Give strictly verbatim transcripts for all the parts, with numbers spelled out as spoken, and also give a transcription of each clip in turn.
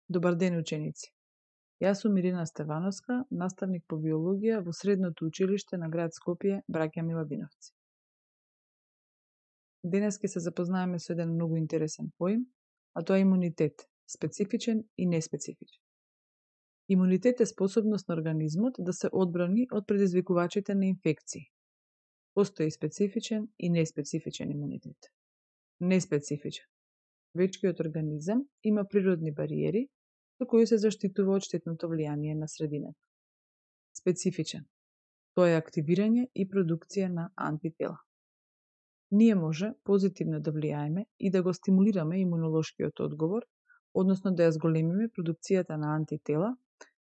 Добар ден, ученици! Јас сум Ирина Стевановска, наставник по биологија во Средното училиште на град Скопје, браќа Миладиновци. Денес ќе се запознаеме со еден многу интересен поим, а тоа е имунитет, специфичен и неспецифичен. Имунитет е способност на организмот да се одбрани од предизвикувачите на инфекции. Постои специфичен и неспецифичен имунитет. Неспецифичен. Вечкиот организам има природни бариери со кои се заштитува од штетното влијание на средината. Специфичен. Тоа е активирање и продукција на антитела. Ние може позитивно да влијаеме и да го стимулираме имунолошкиот одговор, односно да ја зголемиме продукцијата на антитела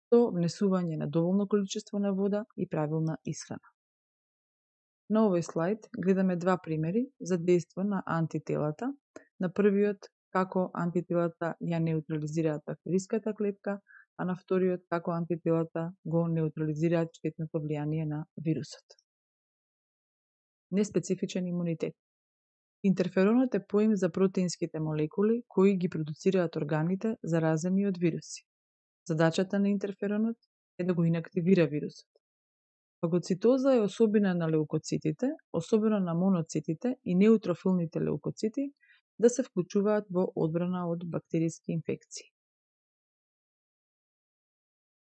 со внесување на доволно количество на вода и правилна исхрана. На овој слайд гледаме два примери за дејство на антителата. На првиот како антителата ја неутрализираат бактериската клетка, а на вториот како антителата го неутрализираат штетното влијание на вирусот. Неспецифичен имунитет. Интерферонот е поим за протеинските молекули кои ги продуцираат органите заразени од вируси. Задачата на интерферонот е да го инактивира вирусот. Фагоцитоза е особина на леукоцитите, особено на моноцитите и неутрофилните леукоцити, да се вклучуваат во одбрана од бактериски инфекции.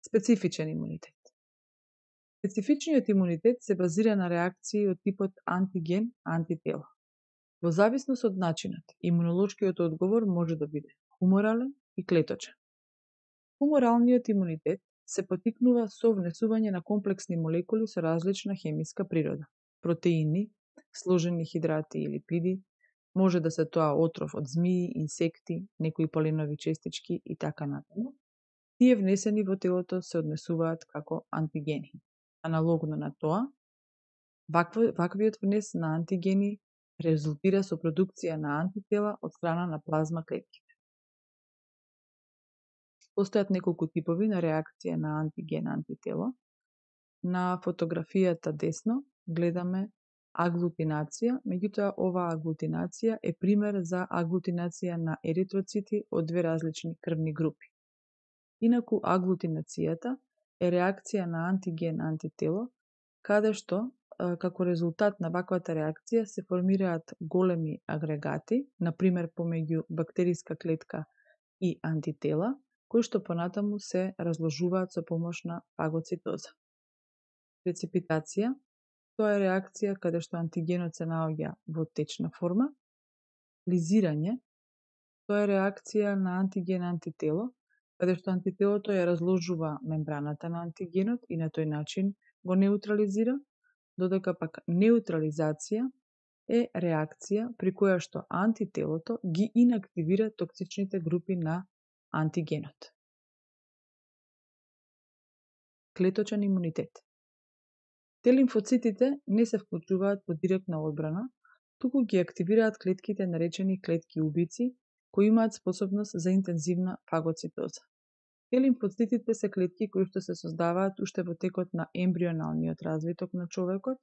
Специфичен имунитет. Специфичниот имунитет се базира на реакции од типот антиген-антитела. Во зависност од начинот, имунолошкиот одговор може да биде хуморален и клеточен. Хуморалниот имунитет се потикнува со внесување на комплексни молекули со различна хемиска природа, протеини, сложени хидрати и липиди, може да се тоа отров од змии, инсекти, некои поленови честички и така натаму. Тие внесени во телото се однесуваат како антигени. Аналогно на тоа, ваквиот внес на антигени резултира со продукција на антитела од страна на плазма клетките. Постојат неколку типови на реакција на антиген-антитело. На фотографијата десно гледаме аглутинација, меѓутоа оваа аглутинација е пример за аглутинација на еритроцити од две различни крвни групи. Инаку аглутинацијата е реакција на антиген-антитело, каде што како резултат на ваквата реакција се формираат големи агрегати, например помеѓу бактериска клетка и антитела, кои што понатаму се разложуваат со помош на фагоцитоза. Преципитација, тоа е реакција каде што антигенот се наоѓа во течна форма. Лизирање, тоа е реакција на антиген-антитело, каде што антителото ја разложува мембраната на антигенот и на тој начин го неутрализира, додека пак неутрализација е реакција при која што антителото ги инактивира токсичните групи на антигенот. Клеточен имунитет. Т-лимфоцитите не се вклучуваат во директна одбрана, туку ги активираат клетките наречени клетки убици, кои имаат способност за интензивна фагоцитоза. Т-лимфоцитите се клетки кои што се создаваат уште во текот на ембрионалниот развиток на човекот,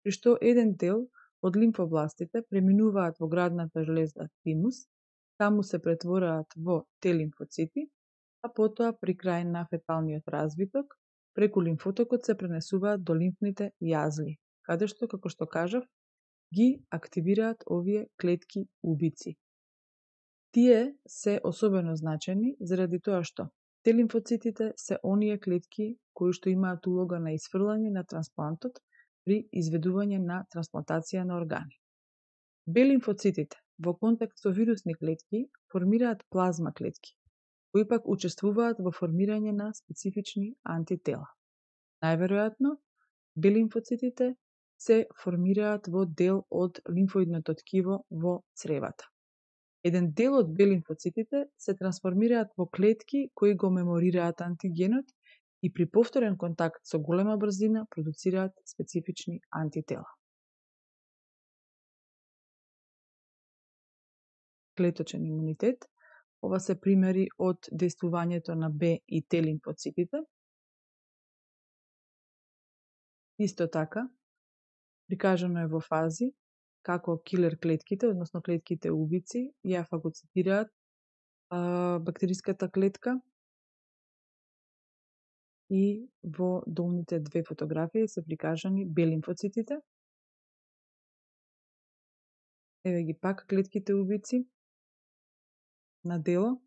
при што еден дел од лимфобластите преминуваат во градната железа тимус, таму се претвораат во Т-лимфоцити, а потоа при крај на феталниот развиток, преку лимфотокот се пренесуваат до лимфните јазли, каде што, како што кажав, ги активираат овие клетки убици. Тие се особено значени заради тоа што Т-лимфоцитите се оние клетки кои што имаат улога на исфрлање на трансплантот при изведување на трансплантација на органи. Б-лимфоцитите во контакт со вирусни клетки формираат плазма клетки, кои пак учествуваат во формирање на специфични антитела. Најверојатно, Б-лимфоцитите се формираат во дел од лимфоидното ткиво во цревата. Еден дел од Б-лимфоцитите се трансформираат во клетки кои го меморираат антигенот и при повторен контакт со голема брзина продуцираат специфични антитела. Клеточен имунитет. Ова се примери од дејствувањето на Б и Т-лимфоцитите. Исто така, прикажано е во фази како килер клетките, односно клетките убици, ја фагоцитираат а, бактериската клетка и во долните две фотографии се прикажани Б лимфоцитите. Еве ги пак клетките убици на дело.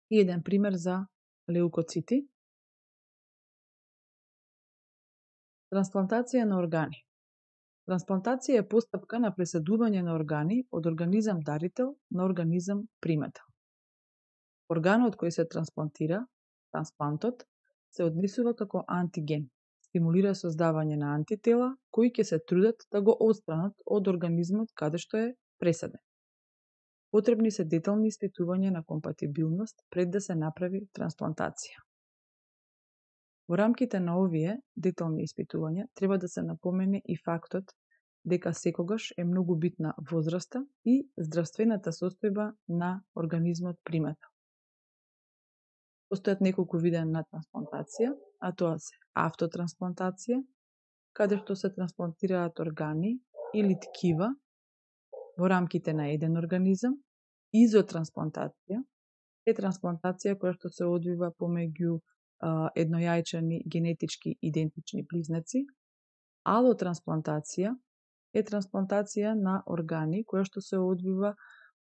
И еден пример за леукоцити. Трансплантација на органи. Трансплантација е постапка на пресадување на органи од организам дарител на организам примател. Органот кој се трансплантира, трансплантот, се однесува како антиген, стимулира создавање на антитела кои ќе се трудат да го отстранат од организмот каде што е пресаден. Потребни се детални испитувања на компатибилност пред да се направи трансплантација. Во рамките на овие детални испитувања треба да се напомене и фактот дека секогаш е многу битна возраста и здравствената состојба на организмот примател. Постојат неколку вида на трансплантација, а тоа се автотрансплантација, каде што се трансплантираат органи или ткива во рамките на еден организам. Изотрансплантација е трансплантација која што се одвива помеѓу а, еднојајчани генетички идентични близнаци. Алотрансплантација е трансплантација на органи која што се одвива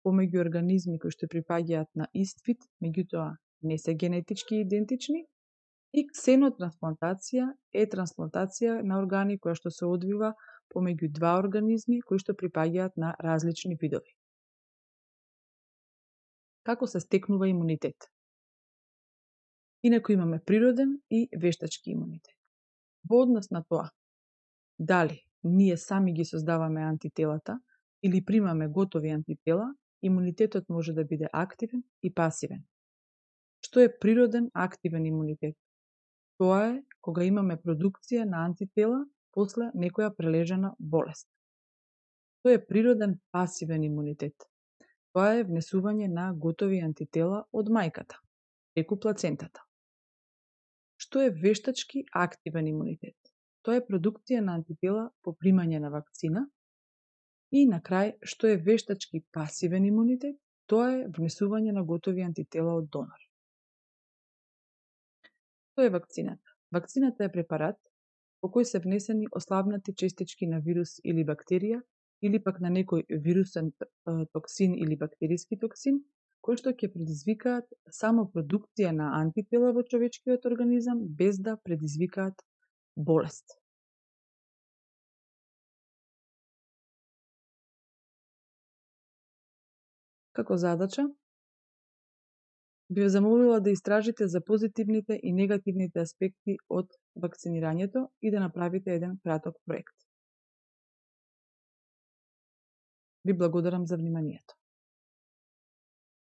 помеѓу организми кои што припаѓаат на ист вид, меѓутоа не се генетички идентични. И ксенотрансплантација е трансплантација на органи која што се одвива помеѓу два организми кои што припаѓаат на различни видови. Како се стекнува имунитет? Инаку имаме природен и вештачки имунитет. Во однос на тоа, дали ние сами ги создаваме антителата или примаме готови антитела, имунитетот може да биде активен и пасивен. Што е природен активен имунитет? Тоа е кога имаме продукција на антитела после некоја прележана болест. Тоа е природен пасивен имунитет. Тоа е внесување на готови антитела од мајката, преку плацентата. Што е вештачки активен имунитет? Тоа е продукција на антитела по примање на вакцина. И на крај, што е вештачки пасивен имунитет? Тоа е внесување на готови антитела од донор. Што е вакцината? Вакцината е препарат по кој се внесени ослабнати честички на вирус или бактерија или пак на некој вирусен токсин или бактериски токсин, кои што ќе предизвикаат само продукција на антитела во човечкиот организам без да предизвикаат болест. Како задача, би ве замолила да истражите за позитивните и негативните аспекти од вакцинирањето и да направите еден краток проект. Ви благодарам за вниманието.